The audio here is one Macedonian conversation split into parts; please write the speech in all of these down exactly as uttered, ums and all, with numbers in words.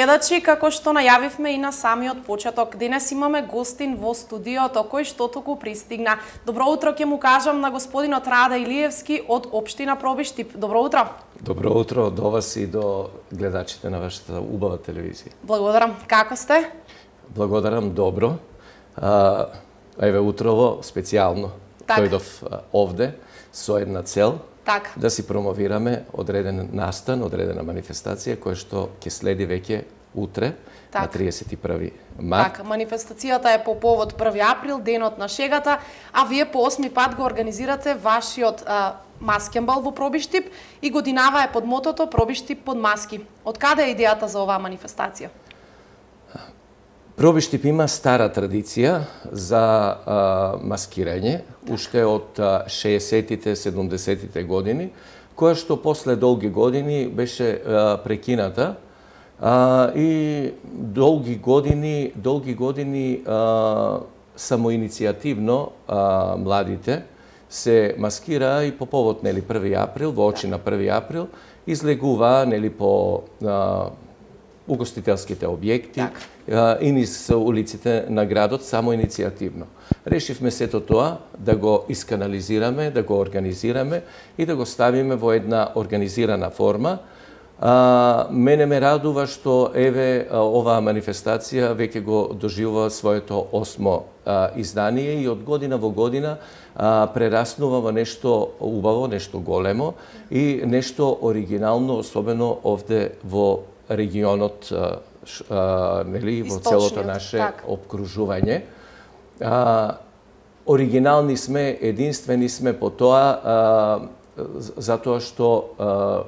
гледачи, како што најавивме и на самиот почеток, денес имаме гостин во студиото кој што току пристигна. Добро утро ќе му кажам на господинот Раде Илиевски од општина Пробиштип. Добро утро. Добро утро до вас и до гледачите на вашата убава телевизија. Благодарам. Како сте? Благодарам, добро. А, еве утрово специјално так. дојдов овде со една цел. Так. Да си промовираме одреден настан, одредена манифестација која што ќе следи веќе утре так. на триесет и први март. Така, манифестацијата е по повод први април, денот на шегата, а вие по осми пат го организирате вашиот а, маскенбал во Пробиштип и годинава е под мотото Пробиштип под маски. Од каде е идејата за оваа манифестација? Пробиштип има стара традиција за а, маскирање, уште од шеесеттите, седумдесеттите години, која што после долги години беше а, прекината а, и долги години, долги години а, самоиницијативно а, младите се маскираа и по повод нели први април, во очи на први април, излегуваа нели по а, угостителските објекти так. и низ улиците на градот само иницијативно. Решивме сето тоа да го исканализираме, да го организираме и да го ставиме во една организирана форма. А, мене ме радува што еве оваа манифестација веќе го доживува своето осмо а, издание и од година во година а, прераснува во нешто убаво, нешто големо и нешто оригинално, особено овде во регионот, а, нели, во целото наше так. обкружување. А, оригинални сме, единствени сме по тоа, а, затоа што а,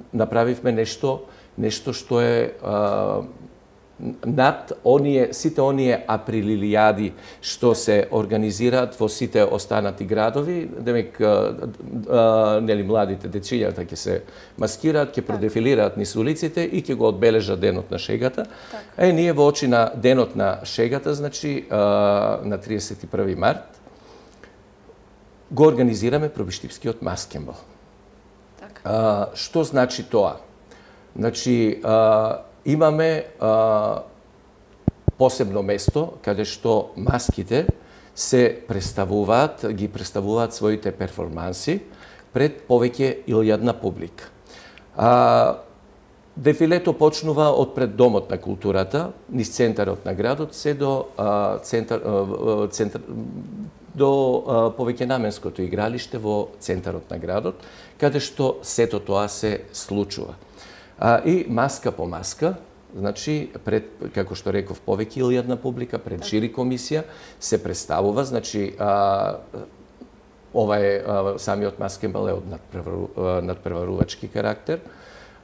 направивме нешто, нешто што е а, над оние, сите оние априлилијади што се организираат во сите останати градови, демек а, а, нели младите дечињата ќе се маскираат, ќе продефилираат низ улиците и ќе го одбележат денот на шегата. Так. Е ние во очи на денот на шегата, значи а, на триесет и први март го организираме Пробиштипскиот маскенбал. Так. А, што значи тоа? Значи а, имаме а, посебно место каде што маските се представуваат, ги представуваат своите перформанси пред повеќе илјадна публика. А, дефилето почнува од пред Домот на културата, низ центарот на градот, се до а, центар, а, центар, до а, повеќе наменското игралиште во центарот на градот, каде што сето тоа се случува. А, и маска по маска, значи, пред, како што реков, повеќе илјадна публика, пред жири комисија, се представува, значи, а, ова е, а, самиот маскенбал е од надпревару, надпреварувачки карактер.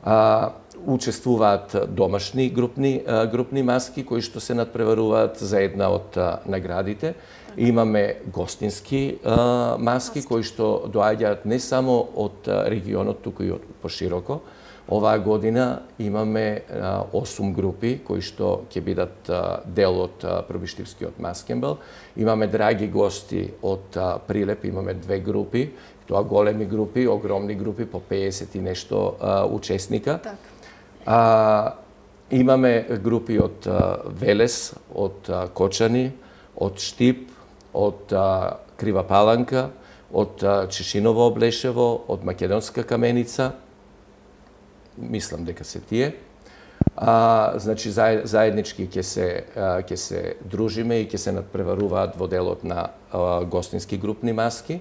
А, учествуваат домашни групни, а, групни маски, кои што се надпреваруваат за една од а, наградите. Имаме гостински а, маски, маски, кои што доаѓаат не само од а, регионот, туку и од пошироко. Оваа година имаме а, осум групи кои што ќе бидат а, дел од а, Пробиштипскиот маскенбал. Имаме драги гости од а, Прилеп, имаме две групи, тоа големи групи, огромни групи, по пеесет и нешто а, учесника. Так. А, имаме групи од а, Велес, од а, Кочани, од Штип, од а, Крива Паланка, од а, Чешиново Облешево, од Македонска Каменица. Мислам дека се тие. А, значи заеднички ќе се ќе се дружиме и ќе се надпреваруваат во делот на а, гостински групни маски.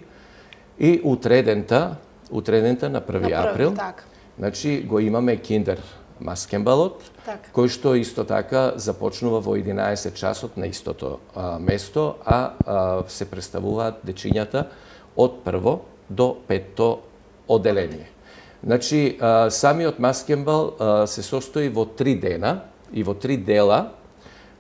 И утредента, утредента на први април, так. Значи го имаме киндер маскенбалот, так. Кој што исто така започнува во единаесет часот на истото а, место, а, а се представуваат дечињата од прво до петто оделение. Значи, а, самиот маскенбал а, се состои во три дена и во три дела.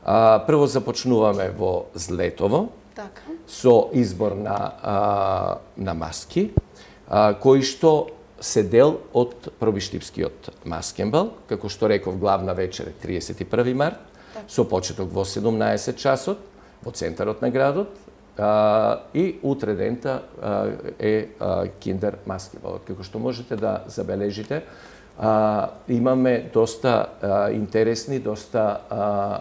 А, прво започнуваме во Злетово, так. Со избор на, а, на маски, а, кои што се дел од Пробиштипскиот маскенбал. Како што реков, главна вечер е триесет и први март, так. Со почеток во седумнаесет часот во центарот на градот. А, и утре дента а, е а, киндер маскенбалот. Како што можете да забележите, а, имаме доста а, интересни, доста а,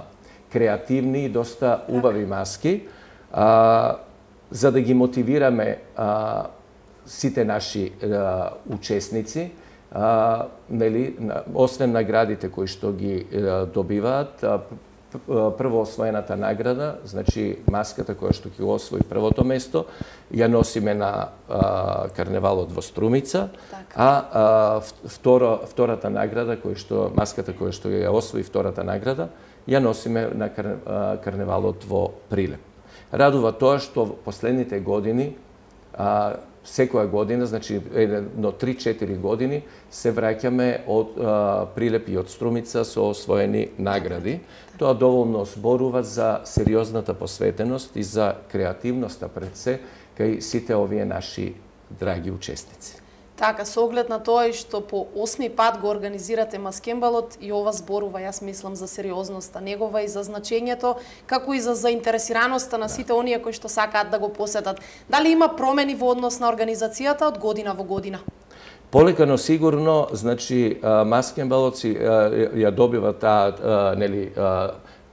креативни, доста убави маски, а, за да ги мотивираме а, сите наши а, учесници, а, нели, освен наградите кои што ги а, добиваат, а, прво освоената награда, значи маската која што ќе освои првото место, ја носиме на а, карневалот во Струмица, так. а, а второ, втората награда, која што маската која што ја освои втората награда, ја носиме на кар, а, карневалот во Прилеп. Радува тоа што последните години, а, секоја година, значи едно три-четири години, се враќаме од а, Прилеп и од Струмица со освоени награди. Тоа доволно зборува за сериозната посветеност и за креативноста пред се кај сите овие наши драги учесници. Така, со оглед на тоа и што по осми пат го организирате маскембалот, и ова зборува, јас мислам, за сериозноста негова и за значењето, како и за заинтересираноста на сите оние кои што сакаат да го посетат. Дали има промени во однос на организацијата од година во година? Полека, но сигурно, значи, маскембалот си ја добива таа, нели,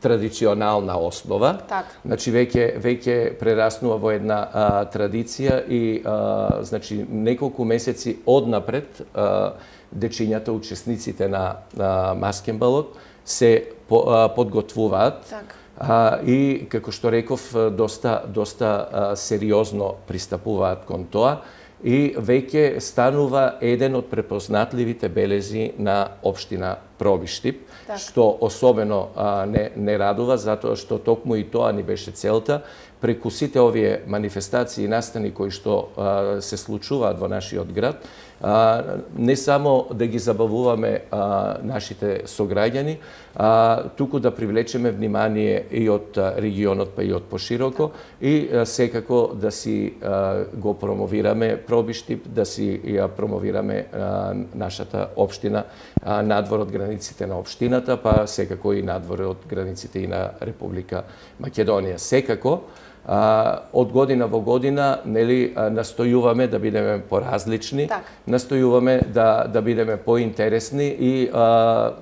традиционална основа. Так. Значи веќе веќе прераснува во една а, традиција и а, значи неколку месеци однапред а, дечињата, учесниците на, на маскембалот се по, а, подготвуваат. Так. А, и како што реков, доста доста а, сериозно пристапуваат кон тоа и веќе станува еден од препознатливите белези на општина Пробиштип, так. Што особено а, не, не радува, затоа што токму и тоа ни беше целта, преку сите овие манифестации и настани кои што а, се случуваат во нашиот град, а, не само да ги забавуваме а, нашите сограѓани, а, туку да привлечеме внимание и од регионот, па и од пошироко, и а, секако да си а, го промовираме Пробиштип, да си ја промовираме а, нашата општина а, надвор од границите на општината, па секако и надвор од границите и на Република Македонија. Секако, а, од година во година, нели, настојуваме да бидеме поразлични, так. Настојуваме да да бидеме поинтересни и а,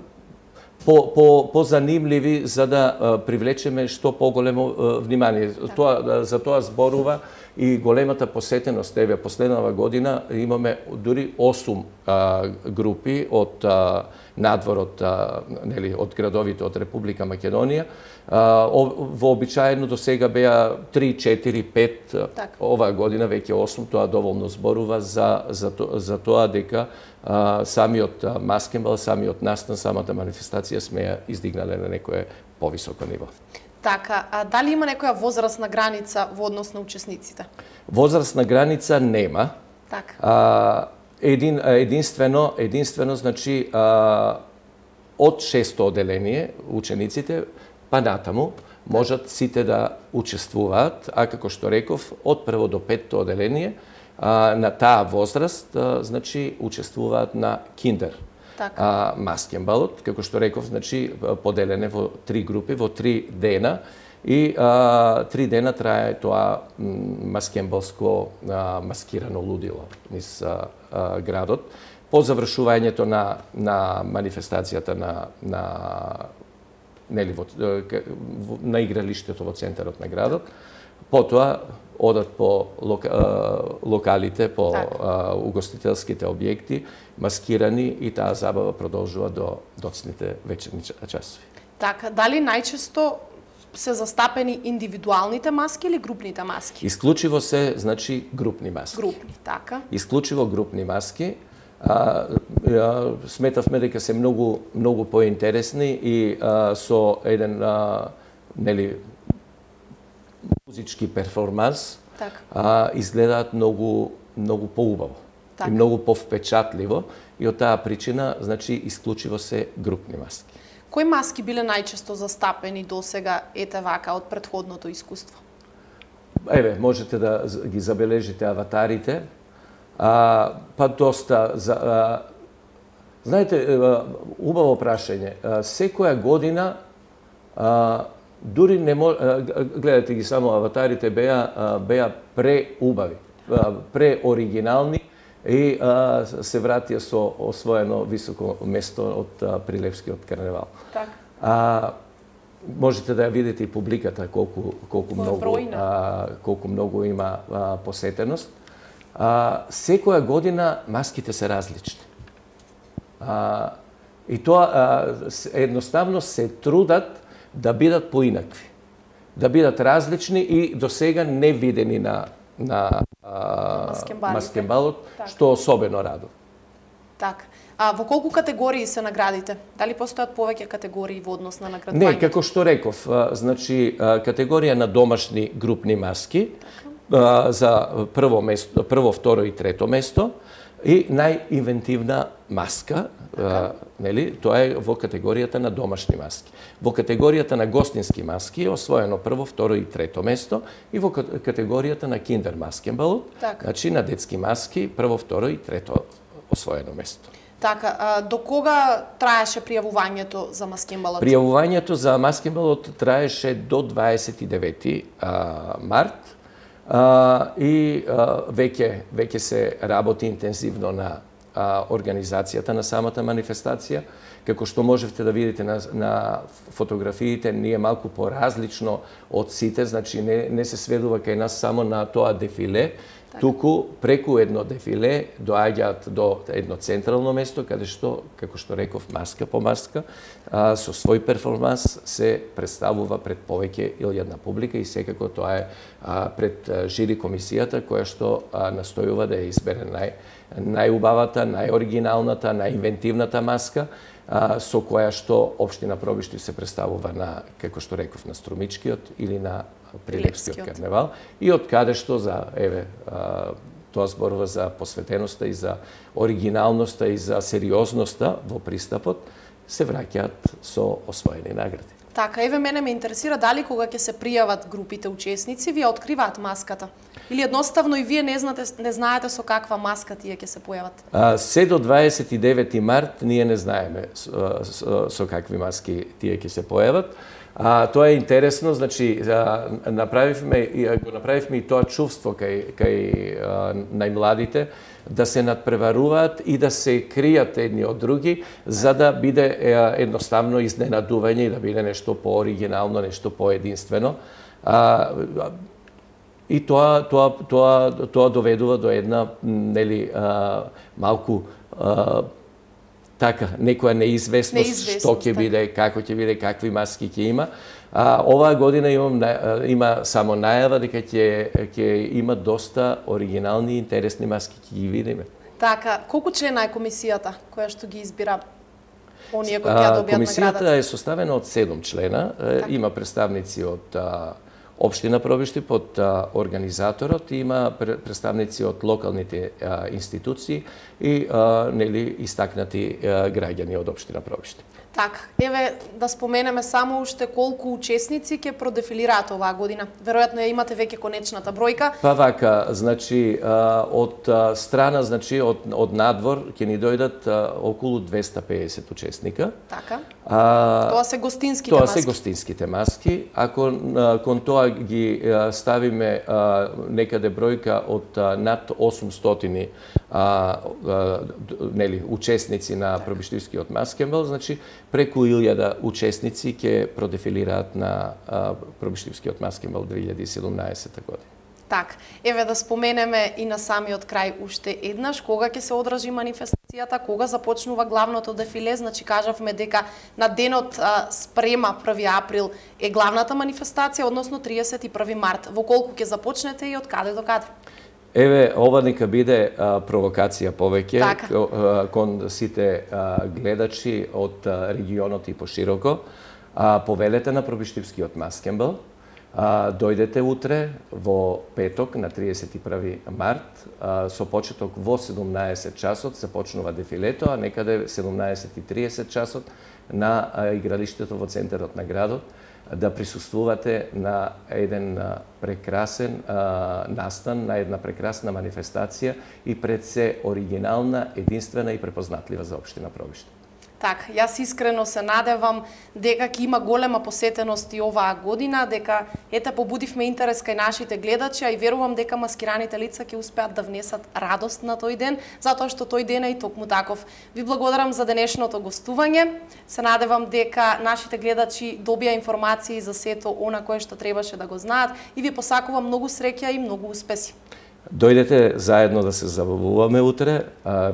по по позанимливи за да а, привлечеме што поголемо а, внимание. Так. Тоа за тоа зборува и големата посетеност. Еве, последнава година имаме дури осум а, групи од а, надворот, а, нели, од градовите од Република Македонија. А, вообичаено до сега беа три, четири, пет, так. Оваа година веќе осум, тоа доволно зборува за, за, то, за тоа дека а, самиот маскембал, самиот настан, самата манифестација сме ја издигнале на некое повисоко ниво. Така, а дали има некоја возрастна граница во однос на учесниците? Возрастна граница нема. Така. А, един, единствено, единствено, значи, а, од шесто оделение учениците, па натаму, можат сите да учествуваат, а како што реков, од прво до петто оделение, а, на таа возраст, а, значи, учествуваат на киндер. А, маскембалот, како што реков, значи, поделене во три групи, во три дена, и а, три дена трае тоа маскембалско а, маскирано лудило низ а, а, градот. По завршувањето на, на манифестацијата на, на, нели, во, на игралиштето во центарот на градот, потоа одат по лока, локалите, по а, угостителските објекти, маскирани, и таа забава продолжува до доцните вечерни часови. Така, дали најчесто се застапени индивидуалните маски или групните маски? Исклучиво се, значи, групни маски. Групни, така. Исклучиво групни маски. А, а, сметавме дека се многу многу поинтересни и а, со еден а, нели музички перформанс, так. а, изгледаат многу многу поубаво и многу повпечатливо, и од таа причина, значи, исклучиво се групни маски. Кои маски биле најчесто застапени досега, ете вака, од претходното искуство? Еве, можете да ги забележите аватарите. А, па доста за, а, знаете, убаво прашање. А, секоја година а, дури не може, гледате ги само аватарите, беа беа преубави, преоригинални, и а, се вратија со освоено високо место од а, Прилепскиот карневал. Так. А, можете да ја видите и публиката колку колку многу а, колку многу има а, посетеност. А, секоја година маските се различни. А, и тоа а, едноставно се трудат да бидат поинакви, да бидат различни и до сега не видени на на а, маскенбалот, што особено радува. Так. А во колку категории се наградите? Дали постојат повеќе категории во однос на наградувањето? Не, како што реков, значи категорија на домашни групни маски, така, за прво место, прво, второ и трето место, и најинвентивна маска, така, нели, тоа е во категоријата на домашни маски. Во категоријата на гостински маски е освоено прво, второ и трето место, и во категоријата на киндер маскенбалот, така, значи на детски маски, прво, второ и трето освоено место. Така, а, до кога траеше пријавувањето за маскенбалот? Пријавувањето за маскенбалот траеше до дваесет и девети март, а, и а, веќе веќе се работи интензивно на а, организацијата на самата манифестација. Како што можевте да видите на, на фотографиите, ние малку поразлично од сите, значи не, не се сведува кај нас само на тоа дефиле, так, туку преку едно дефиле доаѓаат до едно централно место, каде што, како што реков, маска по маска, а, со свој перформанс се представува пред повеќе илјадна публика и секако тоа е а, пред а, жири комисијата, која што а, настојува да ја избере нај, најубавата, најоригиналната, најинвентивната маска, а, со која што општина Пробиштив се представува на, како што реков, на Струмичкиот или на Прилепскиот карневал, и од каде што за, еве, а, тоа зборува за посветеноста и за оригиналноста и за сериозноста во пристапот, се враќаат со освоени награди. Така, еве мене ме интересира дали кога ќе се пријават групите учесници, вие откриваат маската? Или едноставно и вие не знаете, не знаете со каква маска тие ќе се појават? А, се до дваесет и девети март ние не знаеме со, со, со какви маски тие ќе се појават. А, тоа е интересно, значи а, направивме го направивме и тоа чувство кај кај а, најмладите да се надпреваруваат и да се кријат едни од други, за да биде е, едноставно изненадување и да биде нешто пооригинално, нешто поединствено. А, и тоа тоа тоа тоа доведува до една, нели, а, малку а, така, некоја неизвестност, неизвестност што ќе биде, како ќе биде, какви маски ќе има. А, оваа година имам, има само најава дека ќе ќе има доста оригинални и интересни маски, ќе ги видиме. Така, колку члена е комисијата која што ги избира оние кои ќе ја добијат наградата? Комисијата е составена од седум члена, така, има представници од а, Општина Пробиштив, од организаторот, има представници од локалните а, институции и а, нели истакнати а, граѓани од Општина Пробиштив. Така, еве да споменеме само уште колку учесници ќе продефилираат оваа година. Веројатно ја имате веќе конечната бројка. Па вака, значи од страна, значи од од надвор ќе ни дојдат околу двесте и педесет учесника. Така. А, тоа се гостинските тоа маски. Тоа се гостинските маски. Ако кон тоа ги ставиме а, некаде бројка од а, над осумстотини а, а, нели учесници на така, Пробиштивскиот маскенбал, значи преку илјада учесници ќе продефилираат на а, Пробиштивскиот маскенбал две илјади и седумнаесета година. Так, еве да споменеме и на самиот крај уште еднаш, кога ќе се одржи манифестацијата, кога започнува главното дефиле, значи кажавме дека на денот а, спрема први април е главната манифестација, односно триесет и први март. Во колку ќе започнете и од каде до каде? Еве, ова нека биде а, провокација повеќе така, а, кон сите а, гледачи од а, регионот и пошироко. А, повелете на Пробиштивскиот маскенбал. А, дојдете утре во петок на триесет и први март, а, со почеток во седумнаесет часот започнува дефилето, а некаде седумнаесет и триесет часот на а, игралиштето во центарот на градот да присуствувате на еден а, прекрасен а, настан, на една прекрасна манифестација и пред се оригинална, единствена и препознатлива за општина Пробиштив. Така, јас искрено се надевам дека ќе има голема посетеност и оваа година, дека ете побудивме интерес кај нашите гледачи, а и верувам дека маскираните лица ќе успеат да внесат радост на тој ден, затоа што тој ден е и токму таков. Ви благодарам за денешното гостување. Се надевам дека нашите гледачи добија информации за сето она кое што требаше да го знаат и ви посакувам многу среќа и многу успеси. Дојдете заедно да се забавуваме утре.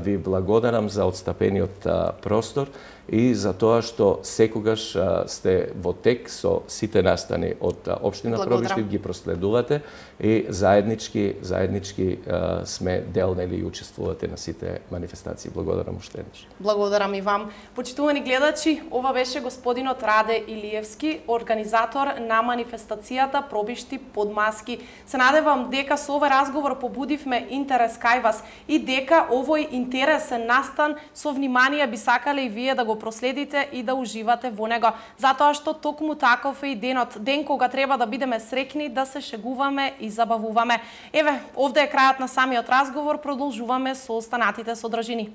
Ви благодарам за отстапениот простор и за тоа што секогаш сте во тек со сите настани од општина Пробиштип, ги проследувате и заеднички заеднички сме дел нели и учествувате на сите манифестации. Благодарам уште еднаш. Благодарам и вам. Почитувани гледачи, ова беше господинот Раде Илиевски, организатор на манифестацијата Пробиштип под маски. Се надевам дека со овој разговор побудивме интерес кај вас и дека овој интересен настан со внимание би сакале и вие да го проследите и да уживате во него. Затоа што токму таков е и денот, ден кога треба да бидеме среќни, да се шегуваме и забавуваме. Еве, овде е крајот на самиот разговор, продолжуваме со останатите содржини.